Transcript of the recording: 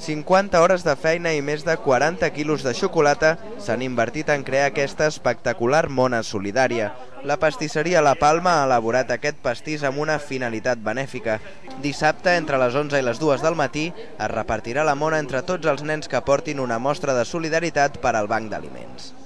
50 hores de feina i més de 40 quilos de xocolata s'han invertit en crear aquesta espectacular mona solidària. La pastisseria La Palma ha elaborat aquest pastís amb una finalitat benèfica. Dissabte, entre les 11 i les 2 del matí, es repartirà la mona entre tots els nens que portin una mostra de solidaritat per al Banc d'Aliments.